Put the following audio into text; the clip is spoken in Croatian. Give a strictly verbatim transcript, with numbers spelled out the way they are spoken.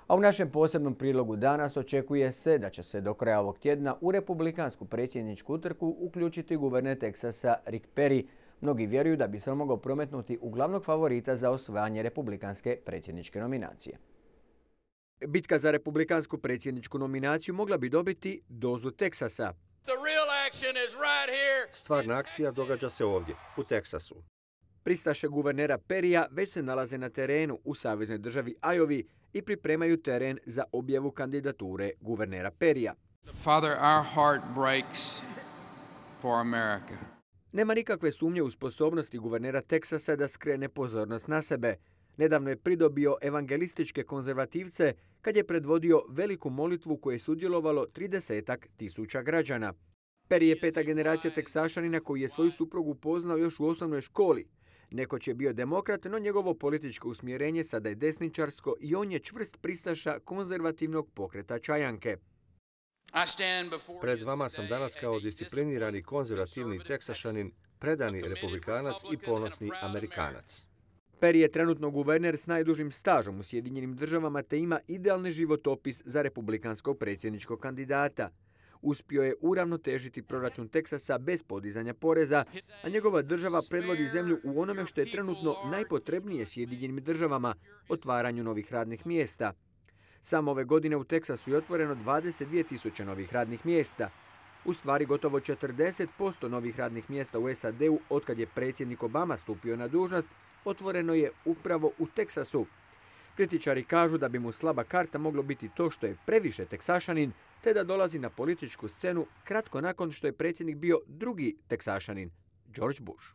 A u našem posebnom prilogu danas očekuje se da će se do kraja ovog tjedna u republikansku predsjedničku utrku uključiti guverner Teksasa Rick Perry. Mnogi vjeruju da bi se on mogao prometnuti u glavnog favorita za osvajanje republikanske predsjedničke nominacije. Bitka za republikansku predsjedničku nominaciju mogla bi dobiti dozu Teksasa. Stvarna akcija događa se ovdje, u Teksasu. Pristaše guvernera Perrya već se nalaze na terenu u saveznoj državi Iowi i pripremaju teren za objavu kandidature guvernera Perrya. Father, our heart breaks for America. Nema nikakve sumnje u sposobnosti guvernera Teksasa da skrene pozornost na sebe. Nedavno je pridobio evangelističke konzervativce kad je predvodio veliku molitvu koju je sudjelovalo tridesetak tisuća građana. Perry je peta generacija Teksašanina koji je svoju suprugu upoznao još u osnovnoj školi. Nekoć je bio demokrat, no njegovo političko usmjerenje sada je desničarsko i on je čvrst pristaša konzervativnog pokreta Čajanke. Pred vama sam danas kao disciplinirani konzervativni Teksašanin, predani republikanac i ponosni Amerikanac. Perry je trenutno guverner s najdužim stažom u Sjedinjenim državama te ima idealni životopis za republikanskog predsjedničkog kandidata. Uspio je uravnotežiti proračun Teksasa bez podizanja poreza, a njegova država predvodi zemlju u onome što je trenutno najpotrebnije Sjedinjenim državama, otvaranju novih radnih mjesta. Samo ove godine u Teksasu je otvoreno dvadeset dvije tisuće novih radnih mjesta. U stvari gotovo četrdeset posto novih radnih mjesta u S A D-u otkad je predsjednik Obama stupio na dužnost otvoreno je upravo u Teksasu. Kritičari kažu da bi mu slaba karta moglo biti to što je previše Teksašanin, te da dolazi na političku scenu kratko nakon što je predsjednik bio drugi Teksašanin, George Bush.